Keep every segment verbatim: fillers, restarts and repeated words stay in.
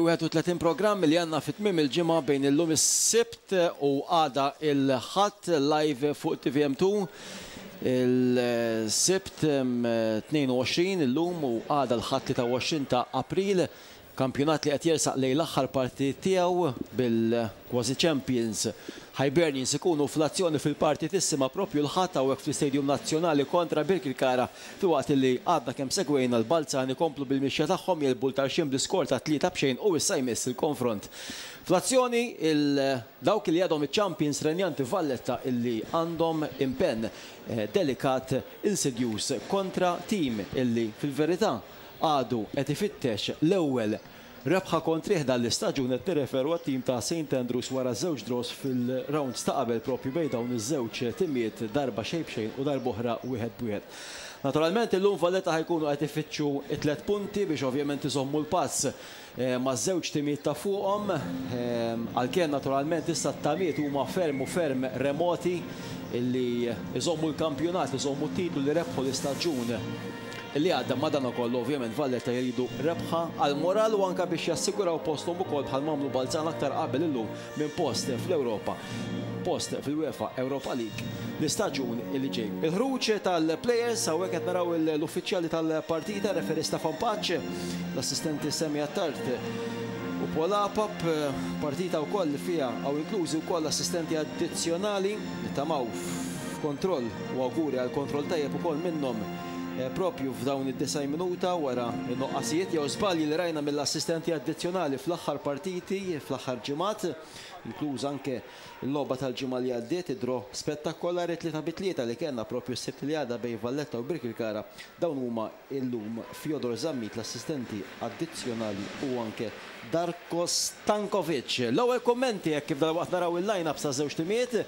wieħed u tletin programm li għandna fi tmiem il-ġimgħa bejn illum is-Sibt u għada il-Ħadd live fuq T V M two. Il-Sibt tnejn u għoxrin illum u għada l-Ħadd tlieta u għoxrin ta' April. Kampjonat li qed jersaq lejn l-aħħar parti tiegħu bil-Quasi Champions Hibernians ikunu fl-azzjoni fil-parti tissima propju l-Ħadd hawnhekk fl-Istadium Nazzjonali kontra Birkirkara, filwaqt li għadna kemm segwejna l-Balzan ikomplu bil-mixja tagħhom jilbu l-Tarxien bl-iskor ta' tlieta b'xejn u issa jmiss il-konfront. Fl-azzjoni dawk li għadhom iċ-Champions renjanti Valletta illi għandhom impenn delikat insidjus kontra tim illi fil-verità għadu qed ifittex l-ewwel rebħa kontrih dan l-istaġun. Qed nirreferu għat-tim ta' Saint Andrews wara żewġ draws fil-rounds ta' qabel propju bejn dawn iż-żewġ timijiet, darba xejn b'xejn u darba oħra wieħed b'wieħed. Naturalment illum Valletta ħajkunu qed ifittxu t-tliet punti biex ovvjament iżommu l-pass ma' żewġ timijiet ta' fuqhom, għalkemm naturalment issa t-tamiet huma ferm u ferm remoti illi iżommu l-kampjonat, iżommu t-titlu li rebħu l-istaġun li għadda. Madankollu ovvjament Valletta jridu rebħa għal moral u anka biex jassiguraw posthom ukoll bħal m'għamlu Balzan aktar qabel illum minn post fl-Ewropa, post fil-UEFA Europa League l-istaġun li ġej. Il-ħruġ tal-players hawnhekk qed naraw l-uffiċjali tal-partita, referee Stefan Pace, l-assistenti Semi Attard u Paul Apap, partita wkoll li fiha hawn inklużi wkoll assistenti addizzjonali li tamaw f'kontroll u awguri għal kontroll tajjeb ukoll minnhom propju f'dawn id-disgħin minuta wara n-noqqasijiet jew żbalji li rajna mill-assistenti addizzjonali fl-aħħar partiti, fl-aħħar ġimgħat, inkluż anke l-logħba tal-ġimgħa li għaddiet, id-draw spettakolari tlieta bi tlieta li kellna propju s-Sibt li għadda bejn Valletta u Birkirkara. Dawn huma illum Fjodor Zammit, l-assistenti addizzjonali, u anke Darko Stankovic. L-ewwel kummenti hekk kif dalwaqt naraw il-line-up sa żewġ timijiet.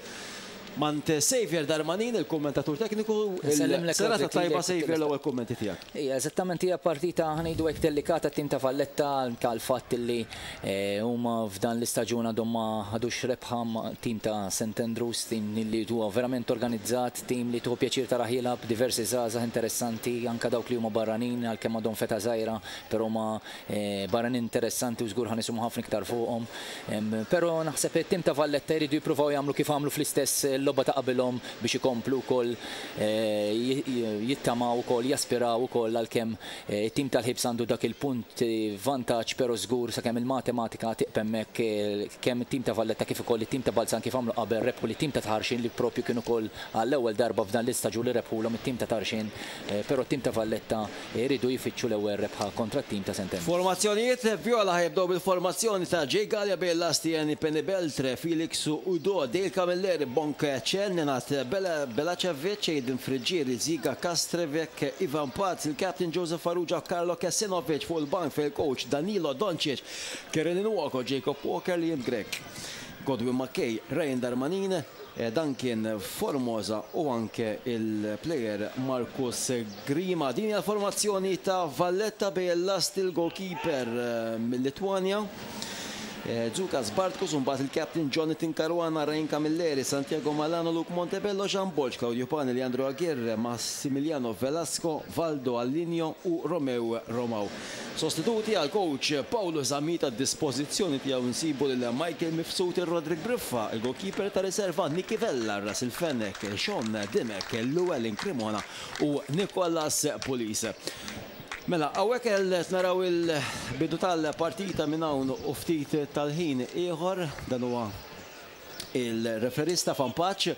Mant Xavier Darmanin, il-kommentatur tekniku, Nsellimlek il-serata Roderick tajba Lilek, Xavier, Tilesta. l-ewwel kummenti tiegħek. Ija, eżattament hija partita ħanejdu hekk delikata tim ta' Valletta tal-fatt li, eh, huma f'dan l-istaġun għadhom ma ħadux rebħa ma' tim ta' Saint Andrews, tim li huwa verament organizzat, tim li tuħu pjaċir tara jilgħab, diversi żgħażagħ interessanti, anke dawk li huma barranin għalkemm għadhom feta żgħira, però huma, eh, barranin interessanti u żgur ħanismu ħafna iktar fuqhom. Em, Però naħseb it-tim ta' Valletta jridu jippruvaw jagħmlu kif għamlu fl-istess logħba ta' qabilhom biex ikomplu wkoll, eh, ji-, ji-, jittamaw ukoll, jaspiraw ukoll għalkemm, eh, it-tim tal-Ħibs għandu dak il-punt, eh, vantaġġ, però żgur sakemm il-matematika tiqpa' hemmhekk, eh, kemm it-tim ta' Valletta kif ukoll it-tim ta' Balzan kif għamlu qabel rebħu lit-tim ta' Tarxien li propju kienu ukoll għall-ewwel darba f'dan l-istaġun li rebħulhom it-tim ta' Tarxien, eh, però t-tim ta' Valletta jridu jfittxu l-ewwel rebħa kontra t-tim ta' Saint Andrews. Formazzjonijiet Viola ħajbdew bil-formazzjoni ta' Jay Galea bejn Lastieni, Penny Beltre, Felix Udo, Dale Camilleri, Bonk Chen, Nenad Bela-, Belacevic, Aiden Friggieri, Ziga Kastrevek, Ivan Paz, il-Captain Joseph Farrugia, Carlo Kesinovic fuq il-bank fil-coach Danilo Doncic, Kieran Nwoko, Jacob Walker, Liam Grech, Godwin McKay, Ryan Darmanin, eh, Duncan Formosa u anke il-player Marcus Grima. Din hija l-formazzjoni ta' Valletta bejn l-last il-goalkeeper, eh, mill-Litwanja. Eh, Zukas Bartkus, u mbagħad il-captain Jonathan Caruana, Ryan Camilleri, Santiago Malano, Luke Montebello, Jean Borg, Claudio Pani, Leandro Aguirre, Massimiliano Velasco, Valdo Allinio u Romeo Romao. Sostituti għal coach Paolo Zammit a dispożizzjoni tiegħu nsibu lil Michael Mifsud, Roderick Briffa, il-goalkeeper ta' riserva Nicky Vella, Russell Fenech, Sean Dimech, Llewellyn Cremona u Nicolas Pulis. Mela, hawnhekk qed naraw il-bidu tal-partita minn hawn u ftit tal-ħin ieħor, dan huwa il-referista Stefan Pace,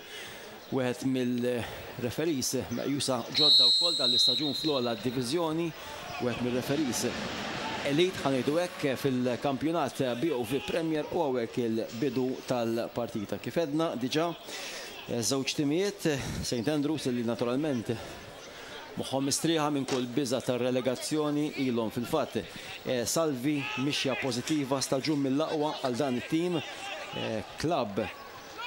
wieħed mill-referis meqjusa ġodda wkoll dan l-istaġun fl-ogħla diviżjoni, wieħed mill-referis elite ħa ngħidu hekk fil-kampjonat B O V Premier, u hawnhekk il-bidu tal-partita. Kif edna diġà żewġ timijiet, Saint Andrews li naturalment moħħhom mistrieħa minn kull biża' tar-relegazzjoni, ilhom fil-fatt, eh, salvi mixja pożittiva, staġun mill-aqwa għal dan it-tim, eh, klabb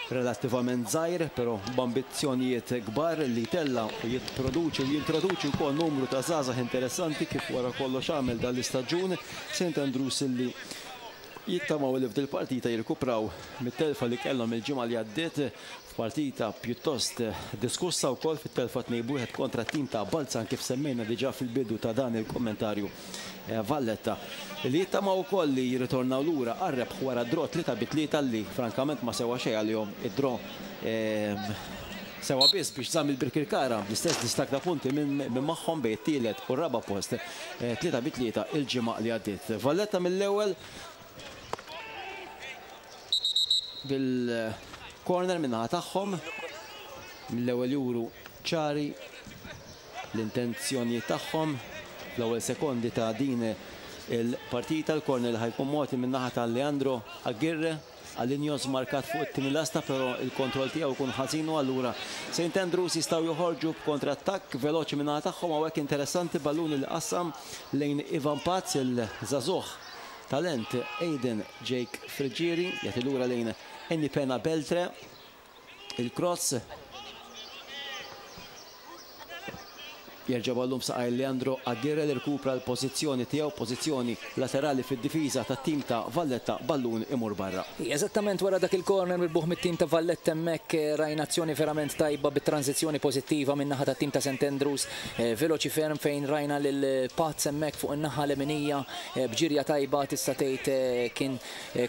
relattivament żgħir, però b'ambizzjonijiet kbar li tella u jipproduċi u jintroduċi wkoll numru ta' żgħażagħ interessanti kif wara kollox għamel dan l-istaġun. Saint Andrews li Jittamaw li f'dil partita jirkupraw mit-telfa li kellhom il-ġimgħa li għaddiet, f'partita pjuttost diskussa wkoll fit-telfa tnejn b'wieħed kontra tim ta' Balzan, kif semmejna diġà fil-bidu ta' dan il-kommentarju. Valletta li jittamaw ukoll li jirritornaw lura għar-rebħ wara draw tlieta bi tlieta li frankament ma sewa xejn għalihom id-draw, sewa biss biex żamm il-Birkirkara bl-istess distakk ta' punti minn magħhom bejn it-tielet u r-raba' post, tlieta bi tlieta il-ġimgħa li għaddiet. Valletta mill-ewwel bil-corner minnaħa tagħhom, mill-ewwel juru ċari l-intenzjonijiet tagħhom fl-ewwel sekondi ta' din il-partita. Il-corner li ħajkun mogħti min-naħa ta' Leandro Aguirre, Alinjos markat fuq it-tieni lasta, però il-kontroll tiegħu jkun ħażin u allura Saint Andrews jistgħu joħorġu b'kontrattakk veloċi min-naħa tagħhom. Hawnhekk interessanti ballun li qassam lejn Ivan Paz, il-żagħżugħ talent Aiden Jake Friggieri, jagħti lura lejn Eni Pena Beltre, il-cross jerġa' ballum saqaj Leandro Aguirre li rkupra l-pożizzjoni tiegħu, pożizzjoni laterali fid-difiża tat-tim ta' Valletta, ballun imur barra. Eżattament wara dak il-corner mirbuħ mit-tim ta' Valletta hemmhekk rajna azzjoni verament tajba bit-tranzizzjoni pożittiva min-naħa tat-tim ta' Saint Andrews, veloċi ferm fejn rajna lil Paz hemmhekk fuq in-naħa leminija b'ġirja tajba, tista' tgħid kien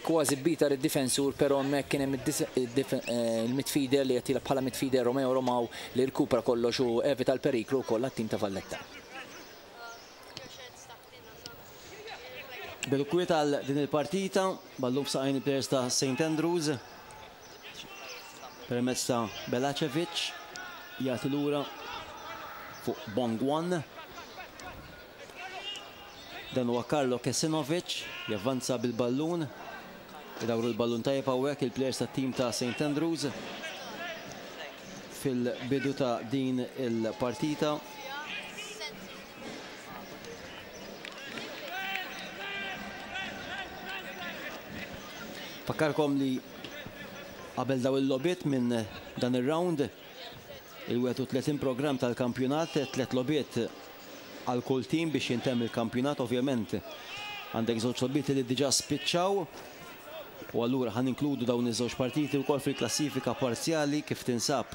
kważi bita lid-difensur, però hemmhekk kien hemm il-midfielder li qed jilgħab bħala midfielder Romeo Romao li rkupra kollox u evita l-periklu wkoll għat-tim ta' Valletta. Bil-kwiet għal din il-partita, ballum f'saqajn il-players ta' Saint Andrews permezz ta' Belacevic, jagħti lura fuq Bongwan. Dan huwa Karlo Kesinovic, javvanza bil-ballun, idawru l-ballun tajjeb hawnhekk il-players tat-tim ta' Saint Andrews fil-bidu ta' din il-partita. Fakkarkom li qabel daw il-lobiet minn dan ir-round, il-wieħed u tletin programm tal-kampjonat, tliet lobiet għal kull tim biex jintemm il-kampjonat. Ovvjament għandek żewġ lobiet li diġà spiċċaw u allura ħan inkludu dawn iż-żewġ partiti wkoll fil-klassifika parzjali kif tinsab.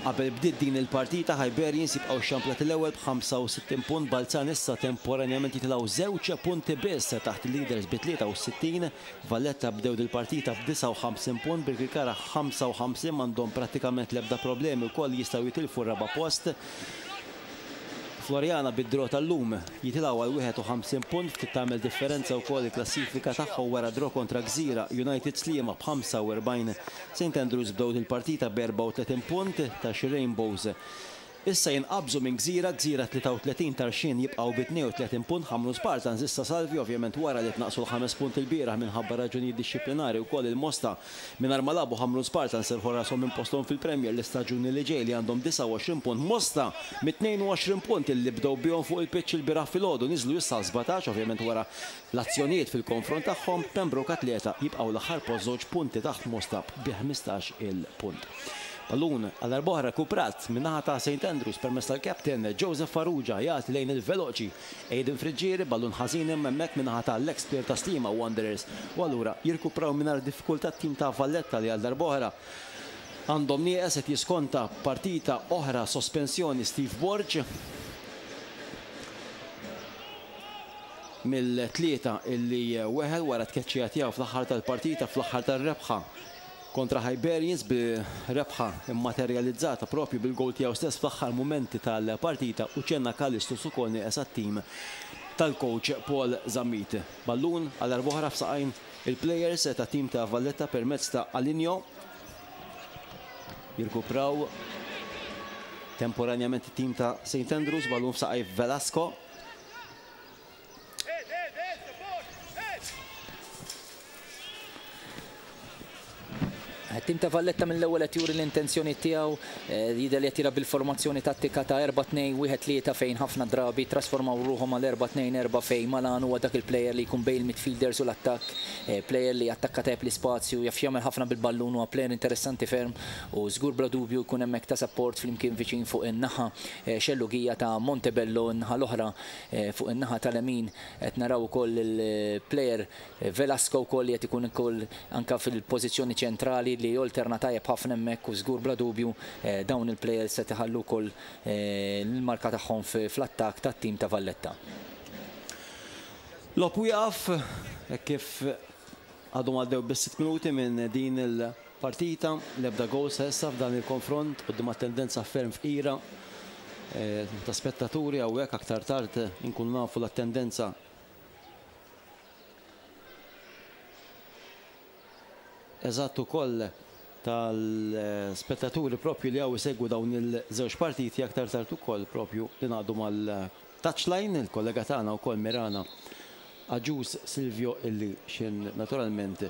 Qabel bdiet din il-partita, Hibernians jibqgħu x-xamplat l-ewwel b'ħamsa u sittin punt, Balzan issa temporanjament jitilgħu żewġ punti biss taħt il-leaders bi tlieta u sittin. Valletta bdew dil-partita b'disa u ħamsin punt, Birkirkara ħamsa u ħamsin, m'għandhom prattikament l-ebda problemi wkoll jistgħu jitilfu r-raba' post. Floriana bid-draw tal-lum jitilgħu għal wieħed u ħamsin punt, ftit tagħmel differenza wkoll il-klassifika tagħhom wara draw kontra Gżira United Sliema b'ħamsa u erbgħin. Saint Andrews bdew il-partita b'erbgħa u tletin punt ta' xi Rainbows. Issa jinqabżu minn Gżira, Gżira tlieta u tletin, Tarxien jibqgħu bi tnejn u tletin punt, Ħamrun Spartans issa salvi ovvjament wara li tnaqsu l-ħames punt il-bieraħ minħabba raġunijiet dixxiplinari wkoll il-Mosta mingħajr ma lagħbu Ħamrun Spartans serħu rashom minn posthom fil-Premier l-istaġuni li ġej li għandhom disgħa u għoxrin punt. Mosta mit-tnejn u għoxrin punt illi bdew bihom fuq il-pitch il-bieraħ filgħodu niżlu issa sbatax ovvjament wara l-azzjonijiet fil-konfront tagħhom. Pembroke Atleta jibqgħu l-aħħar post żewġ punti taħt Mosta bi ħmistax il-punt. Ballun għal darb'oħra rekuprat min-naħa ta' Saint Andrews permezz tal-captain Joseph Farrugia, jagħti lejn il-veloċi Aiden Friggieri, ballun ħażin hemmhekk min-naħa tal-ex player ta' Sliema Wanderers u allura jirkupraw mingħajr diffikultà t-tim ta' Valletta li għal darb'oħra għandhom nieqes qed jiskonta partita oħra sospensjoni Steve Borg mill-tlieta illi weħel wara tkeċċija tiegħu fl-aħħar tal-partita, fl-aħħar tar-rebħa kontra Hibernians bi rebħa immaterializzata propju bil-gol tiegħu stess fl-aħħar mumenti tal-partita, u ċenna Kalistus ukoll nieqes għat-tim tal-coach Paul Zammit. Ballun għal darb'oħra f'saqajn il-players ta' tim ta' Valletta permezz ta' Alinjo. Jirkupraw temporanjament it-tim ta' Saint Andrews, ballun f'saqaj Velasco. Tim ta' Valletta mill-ewwel qed juri l-intenzjoni tiegħu, jidher li qed jilgħab bil-formazzjoni tattika ta' erba' tnejn wieħed tlieta fejn ħafna drabi trasformaw ruħhom għal erba' tnejn erba' fejn Malan huwa dak il-player li jkun bejn il-midfielders u l-attakk, player li attakka tajjeb l-ispazju, jaf jagħmel ħafna bil-ballun, huwa player interessanti ferm u żgur bla dubju jkun hemmhekk ta' support flimkien viċin fuq in-naħa xellugija ta' Montebello, n-naħa l-oħra fuq in-naħa tal-lemin qed naraw ukoll il-player Velasco wkoll li qed ikun ukoll anke fil-pożizzjoni ċentrali li alterna tajjeb ħafna hemmhekk u żgur bla dubju dawn il-players se tħallu wkoll l-marka tagħhom fl-attakk tat-tim ta' Valletta. Logħob wieqaf kif għadhom għaddew biss sitt minuti minn din il-partita, l-ebda goal sa issa f'dan il-konfront quddiem attendenza ferm fqira ta' spettaturi hawnhekk aktar tard inkunu nafu l-attendenza eżatt ukoll tal-spettaturi propju li għaw isegwu dawn il-żewġ partiti aktar tard ukoll propju li ngħaddu mal-touchline, il-kollega tagħna wkoll Mirana Agius Silvio illi xin naturalment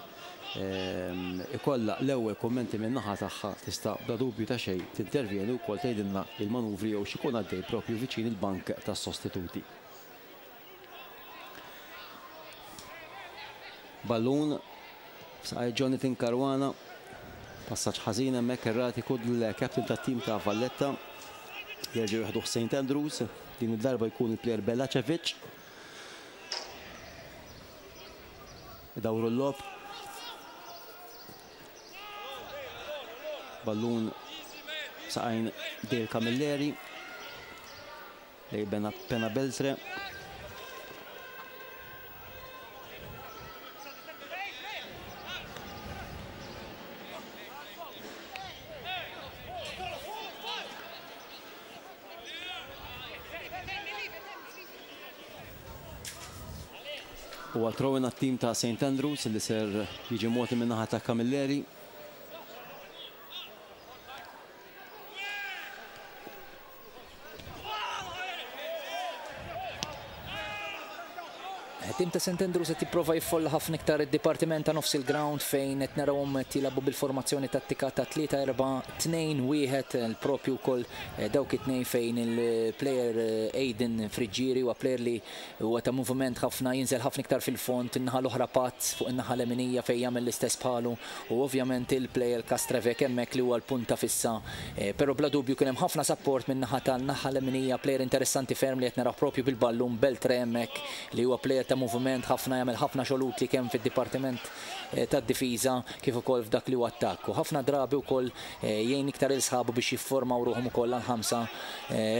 ikolla l-ewwel kummenti minn naħa tagħha tista' bla dubju ta' xejn tintervjeni wkoll tgħidilna il-manuvri jew x'ikun għaddej propju viċin il-bank tas-sostituti. Ballun saqaj Jonathan Caruana, passaġġ ħażin hemmhekk erratiku l-captain tat-tim ta' Valletta. Jerġgħu jieħdu Saint Andrews, din id-darba jkun il-player Belacevic. Idawru l-lob. Ballun saqajn Dale Camilleri lej Pena Beltre. U għatrowin għat-tim ta' Saint Andrews li ser jiġi moti min-naħa ta' Camilleri. Tim ta' Saint Andrews qed jipprova jiffolla ħafna iktar id-dipartiment ta' nofs il-ground fejn qed narawhom qed jilagħbu bil-formazzjoni tattika ta' tlieta erba' tnejn wieħed, il-propju wkoll dawk it-tnejn fejn il-player Aiden Friggieri huwa player li huwa ta' moviment ħafna, jinżel ħafna iktar fil-fond, in-naħa l-oħra Pazz fuq in-naħa l-eminija fejn jagħmel l-istess bħalu u ovvjament il-player Castrevek hemmhekk li huwa l-punta fissa. Però bla dubju kien hemm ħafna support min-naħa tan-naħa l-eminija, player interessanti ferm li qed naraw propju bil-ballun Beltre hemmhekk li huwa player ta' moviment ħafna, jagħmel ħafna xogħol utli kemm fid-dipartiment tad-difiża kif ukoll f'dak li huwa attakk. U ħafna drabi wkoll jgħin iktar il sħabu biex jiffurmaw ruħhom ukoll għal ħamsa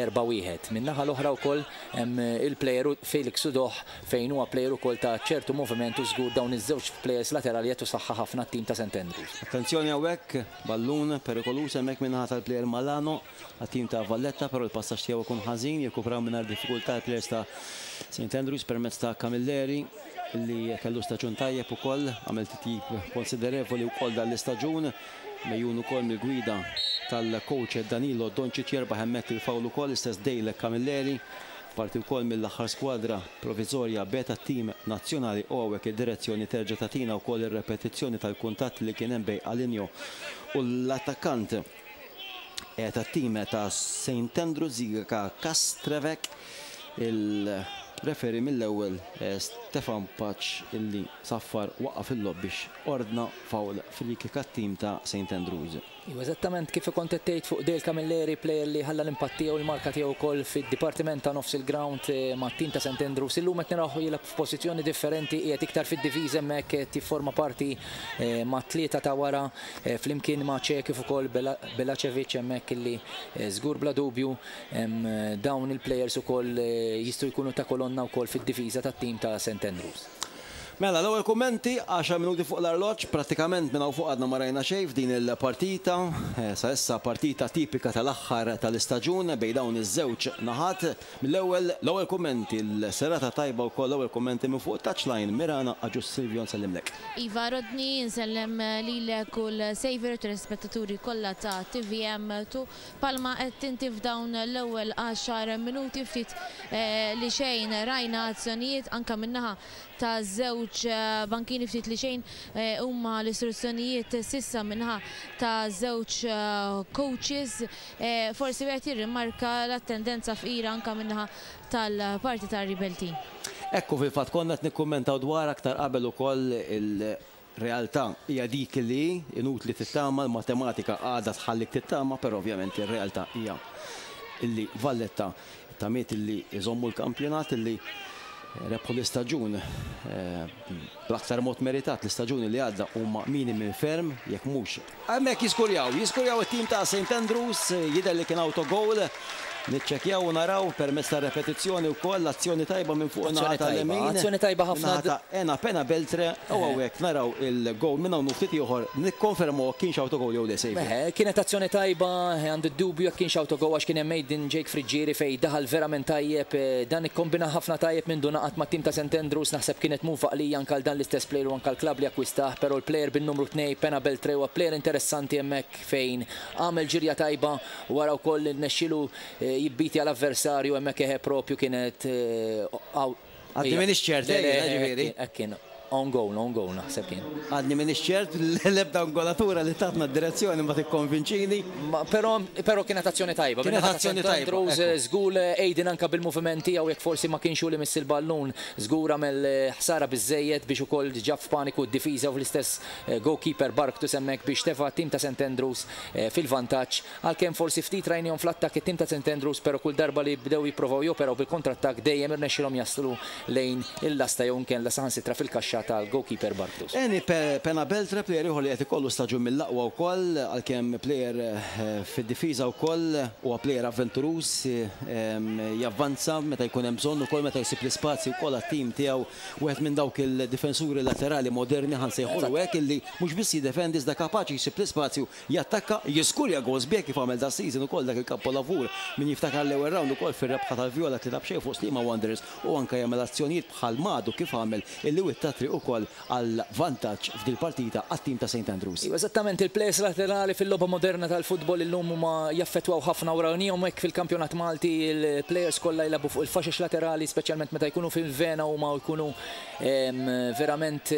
erba' wieħed. Min-naħa l-oħra wkoll hemm il-player Felix Udoh fejn huwa player ukoll ta' ċertu moviment u żgur dawn iż-żewġ players laterali qed saħħa ħafna t-tim ta' Saint Andrews. Attenzjoni hawnhekk, ballun perikoluż hemmhekk min-naħa tal-player Malano għat-tim ta' Valletta, però l-passaġġ tiegħu ikun ħażin, jirkupraw mingħajr diffikultà l-players ta' Saint Andrews permezz ta' Camilleri li kellu staġun tajjeb ukoll, għamel titjib konsiderevoli wkoll dan l-istaġun, mejjun ukoll mill-gwida tal-coach Danilo Doncic jerbaħ hemmhekk il-fawl ukoll istess Dale Camilleri, parti wkoll mill-aħħar skwadra provizorja beta tim nazzjonali u hawnhekk id-direzzjoni terġa' tagħtina wkoll ir-repetizzjoni tal-kuntatt li kien hemm bejn Alinjo u l-attakkant tat-tim ta' Saint Andrews Zika Castrevek. Il-referi mill-ewwel Stefan Paċ illi saffar waqaf il-logħob biex ordna foul free kick għat-tim ta' Saint Andrews. Iva, eżattament kif kont qed tgħid fuq Dale Camilleri, player li ħalla l-impatt tiegħu l-marka tiegħu wkoll fid-dipartiment ta' nofs il-ground mat-tim ta' Saint Andrews. Illum qed naraw jilgħab f'pożizzjoni differenti, qiegħed iktar fid-diviża hemmhekk qed jifforma parti ma' tlieta ta' wara flimkien ma' Ċe kif ukoll Belacevic hemmhekk illi żgur bla dubju dawn il-players ukoll jistgħu jkunu ta' kolonna wkoll fid-diviża tat-tim ta' Saint Andrews. Mela, l-ewwel kummenti, għaxar minuti fuq l-arloġġ, pratikament minn hawn fuq għadna ma rajna xejn f'din il-partita. Sa issa partita tipika tal-aħħar tal-istaġun bejn dawn iż-żewġ naħat. Mill-ewwel l-ewwel kummenti, l-serata tajba wkoll l-ewwel kummenti minn fuq touchline. Mirana Agius Silvio nsellimlek. Iva Rodney, nsellem lilek u l-Saver telespettaturi kollha ta' T V M tu. Palma qed tinti f'dawn l-ewwel għaxar minuti ftit li xejn rajna azzjonijiet anke min-naħa ta' żewġ żewġ bankini ftit li xejn huma l-istruzzjonijiet sissa minħa ta' żewġ coaches. Forsi wieħed jirrimarka l-attendenza fqira anka minnaħa tal-parti tar-Rebel Team. Ekku, fil-fatt konna qed nikkummentaw dwar aktar qabel ukoll, il-realtà hija dik li inutli tittama, l-matematika għadha tħallik tittama, però ovvjament ir-realtà hija illi Valletta tamiet illi jżommu l-kampjonat, illi rebħu l-istaġun bl-aktar mod meritat l-istaġun li għadda, huma minimi ferm jekk mhux. Hemmhekk jiskurjaw, jiskurjaw it-tim ta' Saint Andrews, jidher li kien autogol. Niċċekjaw u naraw permezz ta' repetizzjoni wkoll l-azzjoni tajba minn fuq naħa tal-lemin. Azzjoni tajba ħafna. Ta' Ena Pena Beltre, u hawnhekk naraw il-goal minn hawn ftit ieħor, nikkonfermu kienx autogol jew le, sejf. Kienet azzjoni tajba, għandu dubju jekk kienx autogol għax kien hemm Aiden Jake Friggieri fej daħal verament tajjeb, dan ikkombina ħafna tajjeb minn ngħaqad mat-tim ta' Saint Andrews, naħseb kienet move għaqlija anke dan l-istess player u anke l-klabb li akkwistah, però l-player bin-numru tnejn, Pena Beltre, huwa player interessanti hemmhekk fejn għamel ġirja tajba wara wkoll nexxielu jibbiti għall-avversarju hemmhekk eħe propju kienet. Għadni m'iniex ċert, ġifieri. Kien own goal, own goal naħseb kien. Għadni m'iniex ċert, l-ebda angolatura li tatna d-direzzjoni ma tikkonvinċini. Però però kienet azzjoni tajba. Kienet azzjoni tajba. Żgur Aiden anka bil-movimenti jew jekk forsi ma kienx li miss il-ballun, żgur għamel ħsara biżejjed biex ukoll ġab f'paniku d-difiża u fl-istess goalkeeper Bark hemmhekk biex tefa' tim ta' Saint Andrews fil-vantaġġ. Għalkemm forsi ftit rajnihom fl-attakk it-tim ta' Saint Andrews, però kull darba li bdew jipprovaw joperaw bil kontrattakk dejjem irnexxilhom jaslu lejn il-lasta jew inkella saħansitra fil-kaxxa tal-goalkeeper Bartus. Eni Pena Beltre, player ieħor li qed ikollu staġun mill-aqwa wkoll, għalkemm player fid-difiża wkoll, huwa player avventuruż, javvanza meta jkun hemm bżonn ukoll, meta jsib l-ispazju wkoll għat-tim tiegħu, wieħed minn dawk il-difensuri laterali moderni, ħa nsejħulu hekk, illi mhux biss jiddefendi iżda kapaċi jsib l-ispazju, jattakka, jiskurja goals biex kif għamel da season ukoll dak il-kapolavur min jiftakar l-ewwel round ukoll fir-rebħa tal-Viola tlieta b'xejn fuq Sliema Wanderers, u anke jagħmel azzjonijiet bħal madu kif għamel illi witta ukoll għal vantaġġ f'dil partita għat-tim ta' Saint Andrews. Eżattament, il-players laterali fil-logħba moderna tal-futbol illum huma jaffettwaw ħafna u rawnihom hekk fil-kampjonat Malti, il-players kollha jilagħbu fuq il-faxex laterali, speċjalment meta jkunu fil-vena u ma jkunu verament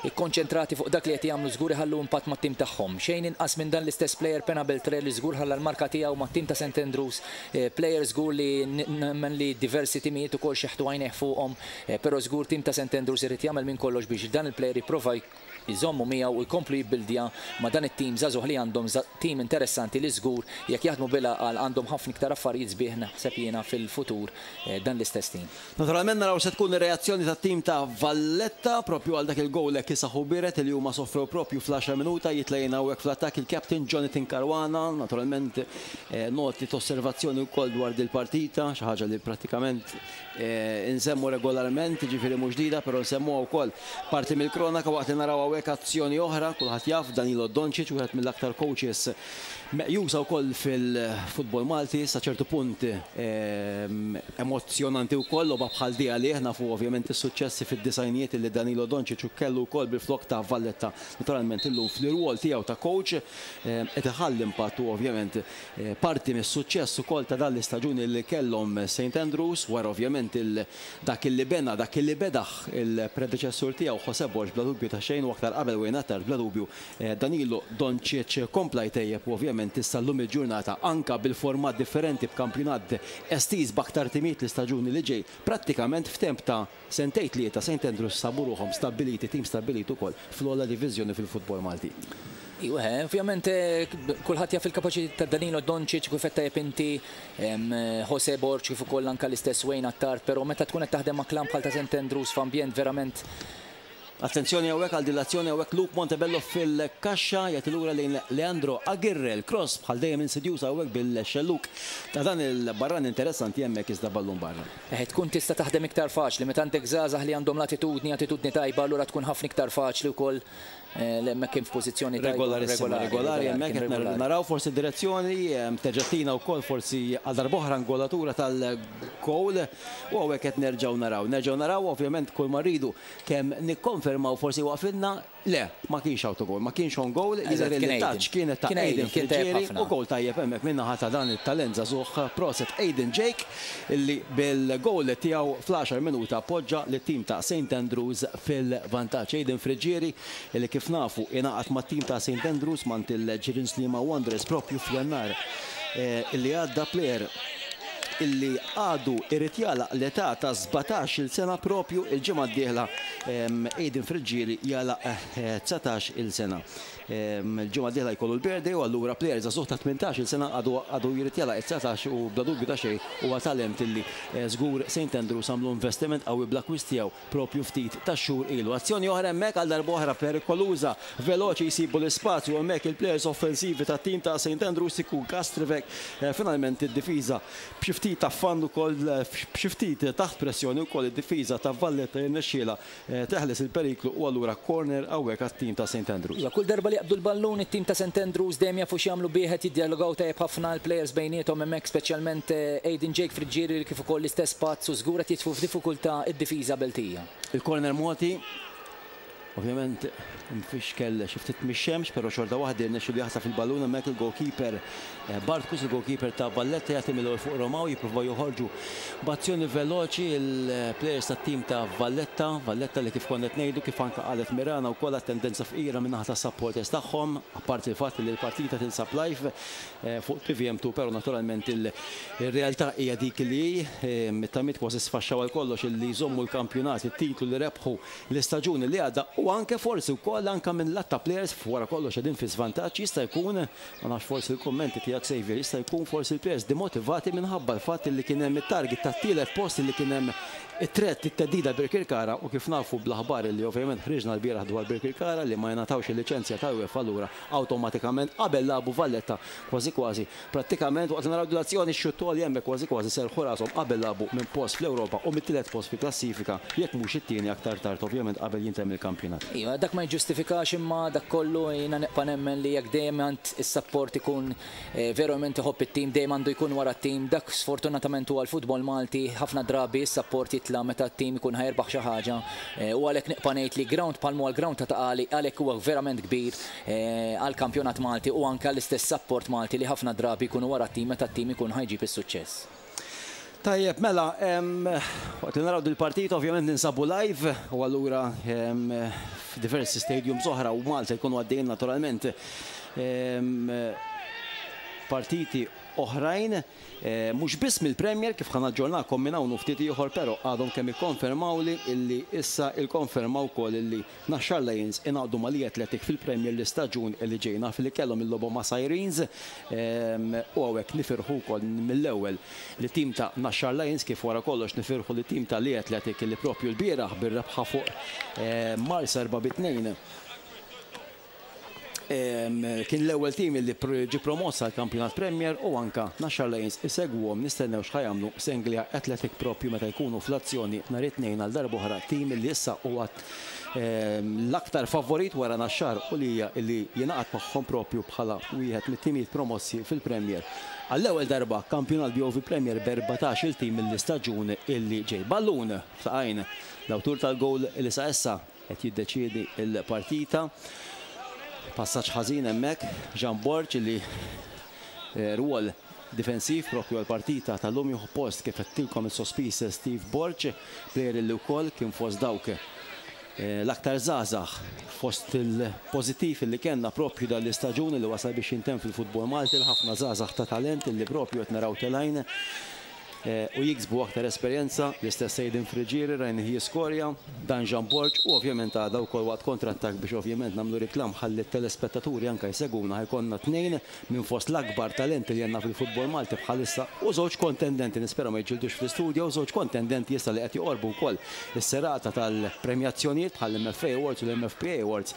ikkonċentrati fuq dak li qed jagħmlu, żgur iħallu impatt mat-tim tagħhom. Xejn inqas minn dan l-istess player Pena Beltre li żgur ħalla l-marka tiegħu mat-tim ta' Saint Andrews, player żgur li nemmen li diversi timijiet ukoll xeħtu għajnejh fuqhom, però żgur tim ta' Saint Andrews irid jagħmel minn kollox biex dan il-player jipprova jżommu miegħu u jkomplu jibbildja ma' dan it-tim żagħżugħ li għandhom, tim interessanti li żgur jekk jaħdmu bil-għaqal għandhom ħafna iktar affarijiet sbieħ naħseb jiena fil-futur dan l-istess tim. Naturalment naraw se tkun ir-reazzjoni tat-tim ta' Valletta propju għal dak il-goal hekk isaħu biret li huma sofrew propju fl-għaxar minuta. Jitlejna hawnhekk fl-attakk il-captain Jonathan Caruana, naturalment noti ta' osservazzjoni wkoll dwar dil-partita, xi ħaġa li prattikament insemmu regolarment, ġifieri mhux ġdida, però nsemmuha wkoll parti mill-kronaka waqt li naraw hawnhekk azzjoni oħra. Kulħadd jaf Danilo Doncic, wieħed mill-aktar coaches meqjusa wkoll fil-futbol Malti, sa ċertu punt emozzjonanti wkoll logħba bħal di għalih. Nafu ovvjament is-suċċessi fid-disajnijiet li Danilo Doncic kellu wkoll bil-flok ta' Valletta. Naturalment illum fl-irwol tiegħu ta' coach qed iħalli impatt u ovvjament parti mis-suċċess ukoll ta' dan l-istaġun li kellhom Saint Andrews, wara ovvjament dak li bena, dak li bedaħ il-predeċessur tiegħu Jose Borg bla dubju ta' xejn, u aktar qabel Wayne Attard. Bla dubju Danilo Doncic kompla jtejjeb u ovvjament issa llum il-ġurnata anka bil-format differenti, b'kampjonat estiż b'aktar timiet l-istaġuni li ġej, prattikament f'temp ta' sentejn tlieta Saint Andrews sabu ruħhom stabbiliti, tim stabbilit ukoll fl-ogħla diviżjoni fil-futbol Malti. Iwa, ovvjament kulħadd jaf il-kapaċità ta' Danilo Doncic, kif qed tajjeb inti, Jose Borg, kif ukoll anke l-istess Wayne Attard, però meta tkun qed taħdem ma' klabb bħal ta' Saint Andrews f'ambjent verament Attenzjoni hawnhekk għal dilazzjoni, hawnhekk Luke Montebello fil-kaxxa jagħti lura lejn Leandro Aguirre, il-cross bħal dejjem insidjusa hawnhekk bil-xelluk ta' dan il-barran interessanti hemmhekk, iżda ballun barra. Eh, tkun tista' taħdem iktar faċli meta għandek żgħażagħ li għandhom l-attitudni, attitudni tajba, allura tkun ħafna iktar faċli wkoll eh, hemmhekk kien f'pożizzjoni tajba. Regolarissima, regolari hemmhekk qed naraw forsi direzzjoni terġa' wkoll forsi għal darb'oħra angolatura tal-goal u hawnhekk qed nerġgħu naraw. Nerġgħu naraw ovvjament kull ma rridu kemm nikkonfermaw Nikkonfermaw forsi waqfilna, le, ma kienx autogol, ma kienx own goal, jidher li touch kienet ta' Aiden Friggieri u goal tajjeb hemmhekk min-naħa ta' dan it-talent żagħżugħ. Proset Aiden Jake, illi bil-goal tiegħu fl-għaxar minuta poġġa lit-tim ta' Saint Andrews fil-vantaġġ. Aiden Friggieri, illi kif nafu ingħaqad mat-tim ta' Saint Andrews mingħand il-Ġirien Sliema Wanderers propju f'Jannar illi għadda, player illi għadu irid jagħlaq l-età ta' sbatax-il sena propju il-ġimgħa d-dieħla. Aiden Friggieri jagħlaq dsatax-il sena. Il-ġimgħa d-dieħla jkollu l-birthday u allura player żagħżugħ ta' tmintax-il sena għadu għadu jrid jagħlaq it-dsatax u bla dubju ta' xejn huwa talent illi żgur Saint Andrews għamlu investiment qawwi bl-akkwist tiegħu propju ftit ta' xhur ilu. Azzjoni oħra hemmhekk, għal darba oħra perikoluża, veloċi jsibu l-ispazju hemmhekk il-players offensivi tat-tim ta' Saint Andrews, ikun Kastrivek, finalment id-difiża b'xi ftit ta' fannu wkoll, b'xi ftit taħt pressjoni wkoll id-difiża ta' Valletta, jirnexxielha teħles il-periklu u allura corner hawnhekk għat-tim ta' Saint Andrews. Iva, kull darba li jaqbdu l-ballun it-tim ta' Saint Andrews dejjem jafu x'jagħmlu bih, jiddialogaw tajjeb ħafna l-players bejniethom hemmhekk, speċjalment Aiden Jake Friggieri kif ukoll l-istess Pazz, u żgur qed jitfu f'diffikultà id-difiża Beltija. Il-corner mogħti, ovvjament mfixkel xi ftit mix-xemx, però xorta waħda jirnexxielu jaħtaf il-ballun hemmhekk il-goalkeeper Bartkus, il-goalkeeper ta' Valletta, jagħti mill fuq Romaw, jippruvaw joħorġu b'azzjoni veloċi il-players tat-tim ta' Valletta, Valletta li kif konna qed ngħidu, kif anke qalet Mirana wkoll, tendenza fqira min-naħa tas-supporters tagħhom, apparti il-fatt li l-partita tinsab live fuq T V M two, però naturalment il-realtà hija dik li mit-tamiet kważi sfaxxaw għal kollox illi jżommu l-kampjonat, it-titlu li rebħu l-istaġuni li għadda, u anke forsi wkoll anke minn lat ta' players wara kollox qegħdin fi żvantaġġ, jista' jkun, ma nafx forsi l-kummenti tiegħek Xavier, jista' jkun forsi l-players demotivati minħabba l-fatt li kien hemm it-target tat-tielet post, li kien hemm it-threat, it-theddida Birkirkara, u kif nafu bl-aħbar li ovvjament ħriġna l-bieraħ dwar Birkirkara li ma jingħatawx il-liċenzja ta' UEFA, allura awtomatikament qabel lagħbu Valletta kważi kważi prattikament, waqt naraw l-azzjoni x-xuttoli hemmhekk, kważi kważi serħu rashom qabel lagħbu minn post fl-Ewropa u mit-tielet post fi klassifika, jekk mhux it-tieni aktar tard ovvjament qabel jintemm il-kampjonat. Iva, dak ma jġustifikax, imma dak kollu jiena nibqa' nemmen li jekk dejjem għand is-support ikun verament iħobb it-tim, dejjem għandu jkun wara t-tim. Dak sfortunatament huwa l-futbol Malti, ħafna drabi s-support jitla meta t-tim ikun ħa jirbaħ xi ħaġa, u għalhekk nibqa' ngħid li ground bħal huwa l-ground ta' Ta' Qali għalhekk huwa verament kbir għall-kampjonat Malti u anke l-istess support Malti li ħafna drabi jkunu wara t-tim meta t-tim ikun ħa jġib is-suċċess. Tajjeb, mela, waqt li naraw dil-partita ovvjament ninsabu live u allura f'diversi stadiums oħra u Malta jkunu għaddejjin naturalment partiti oħrajn, mhux biss mill-Premier, kif ħa naġġornakom minn hawn ftit ieħor, però għadhom kemm ikkonfermaw li illi issa ikkonfermaw ukoll illi Naxxar Lions ingħaqdu ma' Athletic fil-Premier l-istaġun illi ġejna fil kellhom il-logħba ma' Sirens, u hawnhekk nifirħu wkoll mill-ewwel li tim ta' Naxxar Lions, kif wara kollox nifirħu li tim ta' Lee Athletic li propju l-bieraħ bir-rebħa fuq Marsa erba' bi tnejn kien l-ewwel tim li ġi promossa għal kampjonat Premier, u anka Naxxar Lions isegwhom, nistennew x'ħa jagħmlu Senglea Athletic propju meta jkunu fl-azzjoni nhar it-Tnejn għal darb'oħra, tim li issa huwa l-aktar favorit wara Naxxar u li li jingħaqad magħhom propju bħala wieħed mit-timijiet promossi fil-Premier. Għall-ewwel darba kampjonat B O V Premier b'erbatax il-tim mill-istaġun illi ġej. Ballun f'saqajn l-awtur tal-goal li sa issa qed jiddeċiedi il-partita. Passaġġ ħażin hemmhekk, Jean Borg, li rwol difensiv propju għal-partita tal-lum jieħu post, kif għedtilkom, il-sospiż Steve Borg, player li wkoll kien fost dawk l-aktar żgħażagħ fost il-pozittiv li kellna propju dal-istaġun li wasal biex jintemm fil-futbol Malti, l-ħafna żgħażagħ ta' talent li propju qed naraw telgħin u jiksbu aktar esperjenza, l-istess Aiden Friggieri rajna jiskorja, dan Jean Borg, u ovvjament għada wkoll waqt kontrattak, biex ovvjament nagħmlu reklam ħalli t-telespettaturi anka jseguna, ħa jkollna tnejn minn fost l-akbar talenti li għandna fil-futbol Malti bħalissa u żewġ kontendenti, nispera ma jiġġildux fl-istudio, u żewġ kontendenti issa li qed joqorbu wkoll is-serata tal-premjazzjonijiet bħall-M F A Awards u l-M F P A Awards,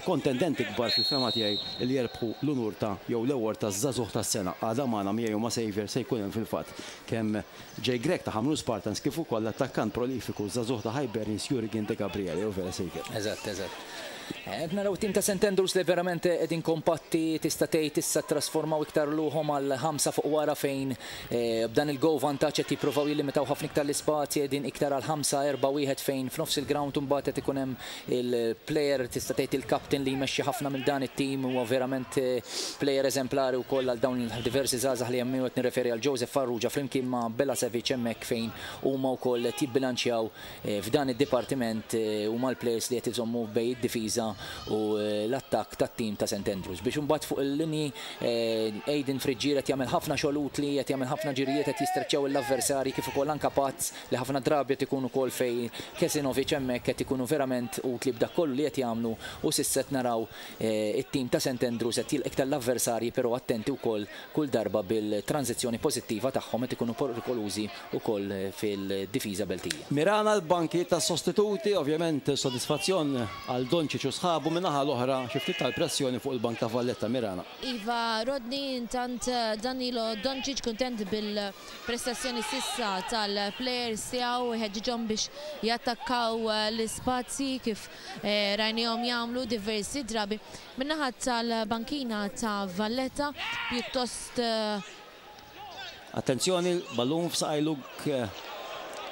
kontendenti kbar fil-fehma tiegħi li jerbħu l-unur ta' jew l-award ta' żagħżugħ tas-sena. Għada magħna miegħi u ma' Xavier se jkun hemm fil-fatt kemm Jay Grech ta' Ħamrun Spartans kif ukoll l-attakkant prolifiku żagħżugħ ta' Hibernians Jurgen De Gabriele, u vera Xavier? Eżatt, eżatt. Naraw tim ta' Saint Andrews li verament qegħdin kompatti, tista' tgħid issa trasformaw iktar ruħhom għal ħamsa fuq wara fejn b'dan il-goal vantaġġ qed jippruvaw jillimitaw ħafna iktar l-ispazji, qegħdin iktar għal ħamsa erba' wieħed fejn f'nofs il-ground imbagħad qed ikun hemm il-player, tista' tgħid il-captain li jmexxi ħafna minn dan it-tim, huwa verament player eżemplari wkoll għal dawn diversi żgħażagħ li hemm, qed nirreferi għal Joseph Farrugia flimkien ma' Bella Sevic hemmhekk fejn huma wkoll qed jibbilanċjaw f'dan id-dipartiment, huma l-players li qed iżommu bejn id-difiża u l-attakk tat-tim ta' Saint Andrews. Biex imbagħad fuq il-linji Aiden Friġġier qed jagħmel ħafna xogħol utli, qed jagħmel ħafna ġirijiet, qed jistreċċjaw l-avversarji, kif ukoll anke Pazz li ħafna drabi qed ikunu wkoll fejn Kesinovic hemmhekk qed ikunu verament utli b'dak kollu li qed jagħmlu, u s'issa qed naraw it-tim ta' Saint Andrews qed jilqa' iktar l-avversarji, però attenti wkoll kull darba bil-tranzizzjoni pożittiva tagħhom qed ikunu perikolużi wkoll fil-difiża Beltija. Mirana l-banki ta' sostituti, ovvjament sodisfazzjon għal Doncic u sħabu, min-naħa l-oħra xi ftit tal-pressjoni fuq il-bank ta' Valletta. Mirana. Iva, Rodney, intant Danilo Doncic kontent bil-prestazzjoni sissa tal-players tiegħu, ħeġġiġhom biex jattakkaw l-ispazji kif rajnihom jagħmlu diversi drabi. Min-naħa tal-bankina ta' Valletta pjuttost Attenzjoni, ballun f'saqaj Luke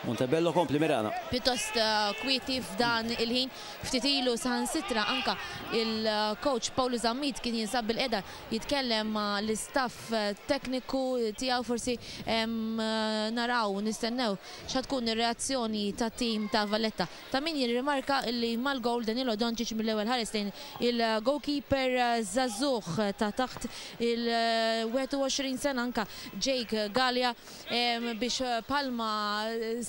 Montebello, kompli Mirana. Pjuttost kwieti f'dan il-ħin, ftit ilu saħansitra anka il-coach Paolo Zammit kien jinsab bil-qeda jitkellem ma' l-istaff tekniku tiegħu, forsi naraw, nistennew x'ha tkun ir-reazzjoni ta' tim ta' Valletta. Ta' min jirrimarka li mal-goal Danilo Doncic mill-ewwel ħares lejn il-goalkeeper żagħżugħ ta' taħt il-wieħed u għoxrin sena anka Jake Gallia biex palma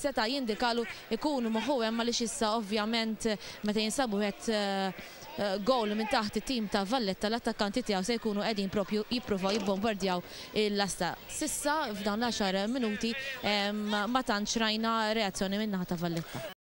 seta' jindikalu ikunu moħħu hemm, għaliex issa ovvjament meta jinsabu wieħed goal minn taħt it-tim ta' Valletta l-attakkanti tiegħu se jkunu qegħdin propju jippruvaw jibbombardjaw il-lasta. Sissa f'dawn l-għaxar minuti ma tantx rajna reazzjoni min-naħa ta' Valletta.